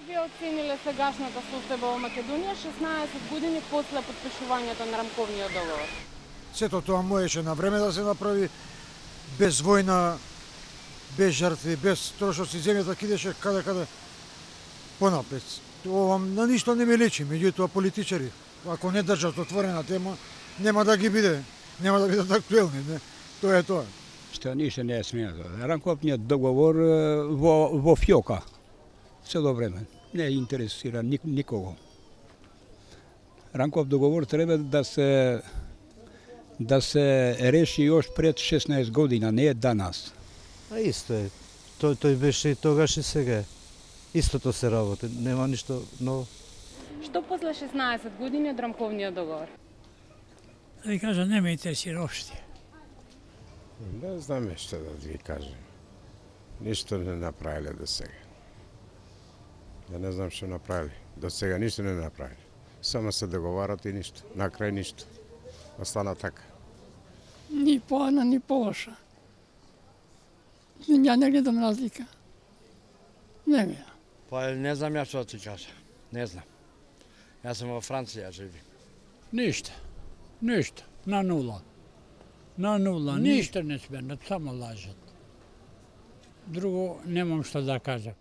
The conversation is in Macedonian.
вие оцениле сегашната состојба во Македонија 16 години после потпишувањето на рамковниот договор? Сето тоа можеше на време да се направи, без војна, без жртви, без трошоци, земјата кидеше каде понапред. Ова на ништо не ме личи, меѓутоа политичари, ако не држат отворена тема, нема да ги биде, нема да бидат актуелни, не? Тоа е тоа. Што ништо не е сменато. Рамковниот договор во фјока цело време. Не интересира никого. Рамков договор треба да се реши још пред 16 година, не е данас. А исто е. Тој беше и тогаш и сега. Истото се работи, нема ништо ново. Што после 16 години од рамковниот договор? Да ви кажа, не ме интересира опште. Не знам што да ви кажем. Ништо не направиле до сега. Да не знам што направили. До сега ништо не направили. Само се договарат и ништо. На крај ништо. Остана така. Ни поана, ни полоша. Ја не гледам разлика. Не ми. Па не знам ја што да ти кажа. Не знам. Јас сум во Франција живи. Ништо. На нула. Ништо не сменат, само лажат. Друго немам што да кажам.